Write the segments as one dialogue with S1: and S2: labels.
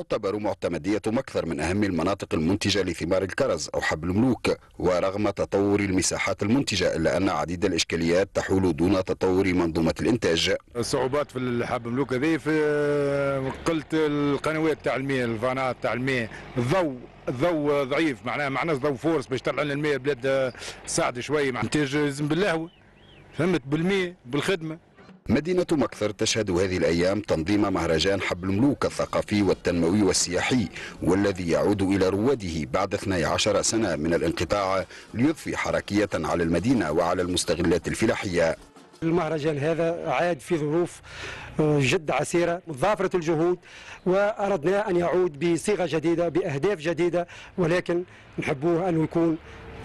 S1: تعتبر معتمدية مكثر من أهم المناطق المنتجة لثمار الكرز أو حب الملوك، ورغم تطور المساحات المنتجة إلا أن عديد الإشكاليات تحول دون تطور منظومة الإنتاج.
S2: الصعوبات في الحب الملوك هذه في قلة القنوات تاع الماء، الفانات تاع الماء، الضوء ضعيف، معناها ما عناش ضوء force باش تطلع لنا الماء. بلاد ساعد شوي مع انتاج لازم باللهوه، فهمت، بالماء، بالخدمه.
S1: مدينة مكثر تشهد هذه الأيام تنظيم مهرجان حب الملوك الثقافي والتنموي والسياحي، والذي يعود إلى رواده بعد 12 سنة من الانقطاع ليضفي حركية على المدينة وعلى المستغلات الفلاحية.
S3: المهرجان هذا عاد في ظروف جد عسيرة، متضافرة الجهود، وأردنا أن يعود بصيغة جديدة، بأهداف جديدة، ولكن نحبوه أنه يكون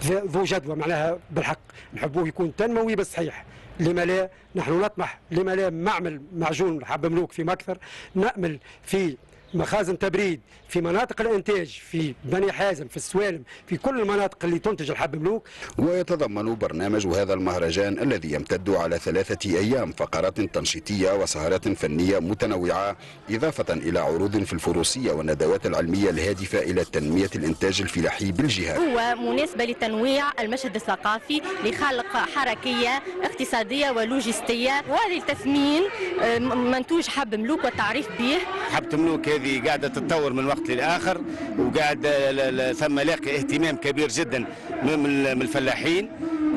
S3: ذو جدوى، معناها بالحق نحبوه يكون تنموي بالصحيح. لما لا نحن نطمح، لما لا معمل معجون حب ملوك في مكثر، نأمل في مخازن تبريد في مناطق الانتاج في بني حازم، في السوالم، في كل المناطق اللي تنتج الحب ملوك.
S1: ويتضمن برنامج هذا المهرجان الذي يمتد على 3 أيام فقرات تنشيطية وسهرات فنية متنوعة، إضافة إلى عروض في الفروسية والندوات العلمية الهادفة إلى تنمية الإنتاج الفلاحي بالجهة.
S4: هو مناسبة لتنويع المشهد الثقافي، لخلق حركية اقتصادية ولوجستية ولتثمين منتوج حب ملوك والتعريف به.
S5: حبة ملوك هذه قاعدة تتطور من وقت للآخر، وقاعد ثم لاقي اهتمام كبير جدا من الفلاحين،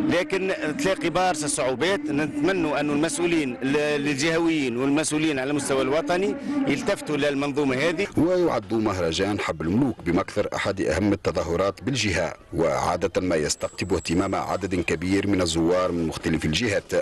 S5: لكن تلاقي برشا صعوبات. نتمنوا أن المسؤولين الجهويين والمسؤولين على المستوى الوطني يلتفتوا للمنظومة هذه.
S1: ويعد مهرجان حب الملوك بمكثر أحد أهم التظاهرات بالجهة، وعادة ما يستقطب اهتمام عدد كبير من الزوار من مختلف الجهات.